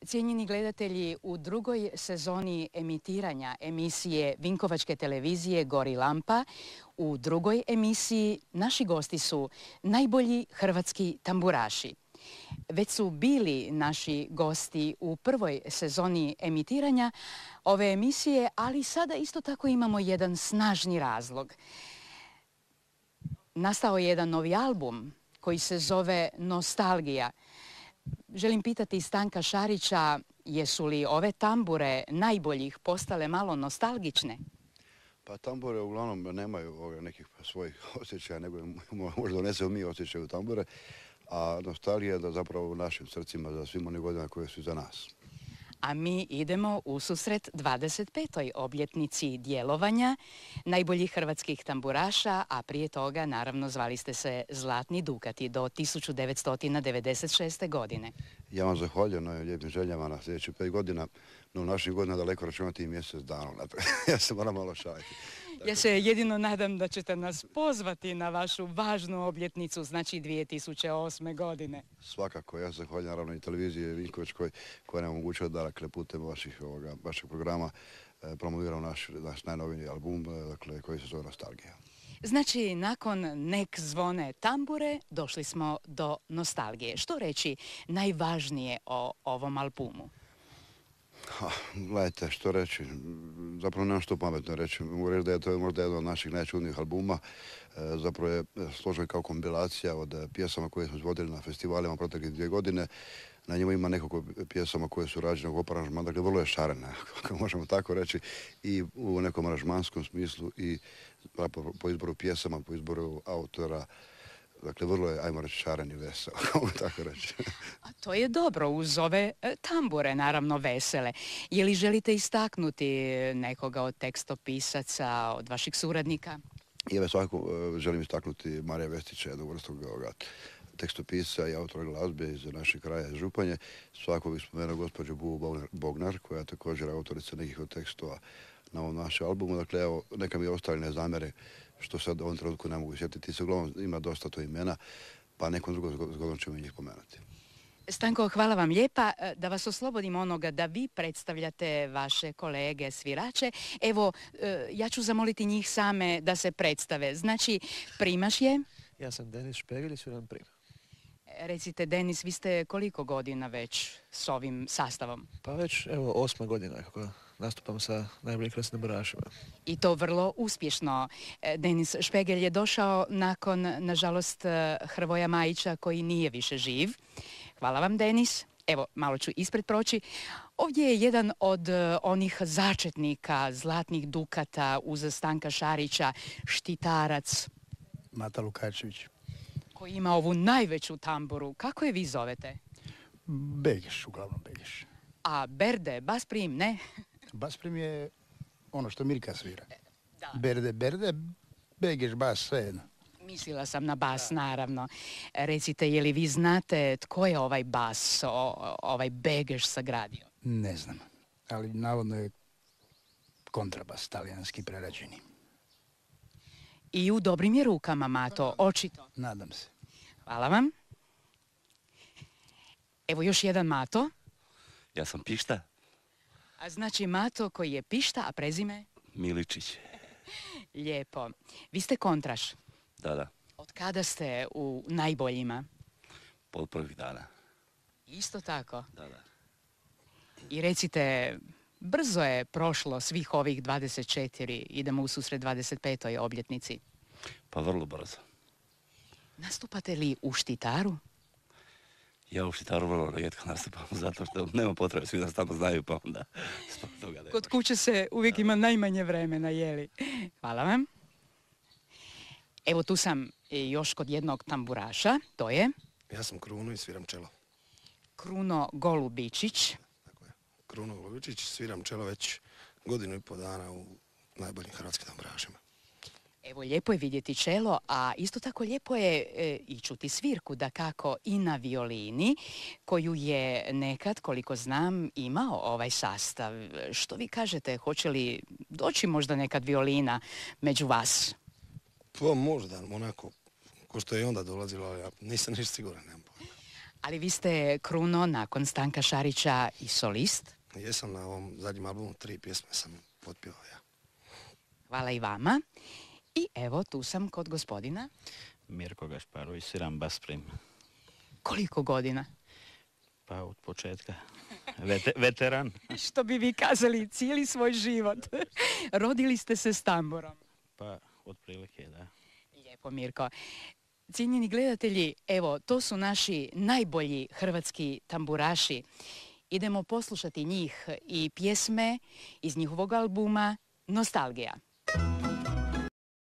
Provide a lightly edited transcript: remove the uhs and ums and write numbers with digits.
Cijenjeni gledatelji, u drugoj sezoni emitiranja emisije Vinkovačke televizije Gori lampa, u drugoj emisiji naši gosti su najbolji hrvatski tamburaši. Već su bili naši gosti u prvoj sezoni emitiranja ove emisije, ali sada isto tako imamo jedan snažni razlog. Nastao je jedan novi album koji se zove Nostalgija. Želim pitati Stanka Šarića, jesu li ove tambure najboljih postale malo nostalgične? Pa tambure uglavnom nemaju nekih svojih osjećaja, nego možda donesemo mi osjećaj u tambure, a nostalgija je da zapravo u našim srcima za svim onih godina koje su za nas. A mi idemo u susret 25. obljetnici djelovanja najboljih hrvatskih tamburaša, a prije toga naravno zvali ste se Zlatni Dukati do 1996. godine. Ja vam zahvaljujem na lijepim željama na sljedećih 5 godina, no u naših godina daleko računati i mjesec dana. Ja se moram malo šaliti. Ja se jedino nadam da ćete nas pozvati na vašu važnu obljetnicu, znači 2008. godine. Svakako, ja se zahvaljujem naravno i televiziji Vinkovačkoj koja nam omogućuje da putem vašeg programa promoviramo naš najnoviji album koji se zove Nostalgija. Znači, nakon Nek zvone tambure, došli smo do nostalgije. Što reći najvažnije o ovom albumu? Gledajte, što reći, zapravo nemam što pametno reći. Mogu reći da je to možda jedan od naših najčudnijih albuma. Zapravo je složen kao kompilacija od pjesama koje smo izvodili na festivalima proteklih 2 godine. Na njemu ima nekoliko pjesama koje su rađene u aranžmanu, dakle vrlo je šarena, ako možemo tako reći, i u nekom aranžmanskom smislu i po izboru pjesama, po izboru autora. Dakle, vrlo je, ajmo reći, šaren i vesel, kako tako reći. A to je dobro uz ove tambure, naravno vesele. Je li želite istaknuti nekoga od tekstopisaca, od vaših suradnika? Ja svakako želim istaknuti Marija Vestića, jednog vrstog tekstopisa i autora glazbe iz našeg kraja, iz Županje. Svakako bih spomenuo gospođu Buvu Bognar, koja je također autorica nekih od tekstova na ovom našem albumu. Dakle, evo, neka mi ostali ne zamere što sad u ovom trenutku ne mogu sjetiti. Se uglavnom ima dosta to imena, pa nekom drugom zgodom ćemo njih pomenuti. Stanko, hvala vam lijepa. Da vas oslobodim onoga da vi predstavljate vaše kolege svirače. Evo, ja ću zamoliti njih same da se predstave. Znači, primaš je? Ja sam Denis Špegelj i sviram prima. Recite, Denis, vi ste koliko godina već s ovim sastavom? Pa već, evo, 8. godina kako nastupam sa najboljim hrvatskim tamburašima. I to vrlo uspješno. Denis Špegelj je došao nakon, nažalost, Hrvoja Majića koji nije više živ. Hvala vam, Denis. Evo, malo ću ispred proći. Ovdje je jedan od onih začetnika Zlatnih Dukata uz Stanka Šarića, štitarac. Mata Lukačević. Koji ima ovu najveću tamburu. Kako je vi zovete? Begeš, uglavnom Begeš. A Berde, bas prim, ne? Bas prim je ono što Mirka svira. Da. Berde, Begeš, bas, sve jedno. Mislila sam na bas, naravno. Recite, je li vi znate tko je ovaj bas, ovaj Begeš sagradio? Ne znam, ali navodno je kontrabas, talijanski prerađeni. I u dobrim je rukama, Mato, očito. Nadam se. Hvala vam. Evo još jedan Mato. Ja sam Pišta. A znači Mato koji je Pišta, a prezime? Miličić. Lijepo. Vi ste kontraš. Da. Od kada ste u najboljima? Od prvih dana. Isto tako? Da. I recite, brzo je prošlo svih ovih 24, idemo u susret 25. obljetnici. Pa vrlo brzo. Nastupate li u Štitaru? Ja u Štitaru vrlo rijetko nastupam, zato što nema potrebe, svi nas tamo znaju, pa onda zbog toga Kod kuće se uvijek ima najmanje vremena, jeli? Hvala vam. Evo tu sam još kod jednog tamburaša, to je? Ja sam Kruno i sviram čelo. Kruno Golubičić. Tako je. Kruno Golubičić, sviram čelo već 1,5 godina u najboljim hrvatskim tamburašima. Evo, lijepo je vidjeti čelo, a isto tako lijepo je i čuti svirku, dakako i na violini, koju je nekad, koliko znam, imao ovaj sastav. Što vi kažete, hoće li doći možda nekad violina među vas? Pa možda, onako, ko što je onda dolazilo, ali ja nisam ništa siguran, nemam pojma. Ali vi ste, Kruno, nakon Stanka Šarića i solist. Jesam na ovom zadnjem albumu, 3 pjesme sam potpio ja. Hvala i vama. I evo, tu sam kod gospodina. Mirko Gašparović, sviram bas prim. Koliko godina? Pa od početka. Veteran. Što bi vi kazali, cijeli svoj život. Rodili ste se s tamburom. Pa otprilike, da. Lijepo, Mirko. Cijenjeni gledatelji, evo, to su naši najbolji hrvatski tamburaši. Idemo poslušati njih i pjesme iz njihovog albuma Nostalgija.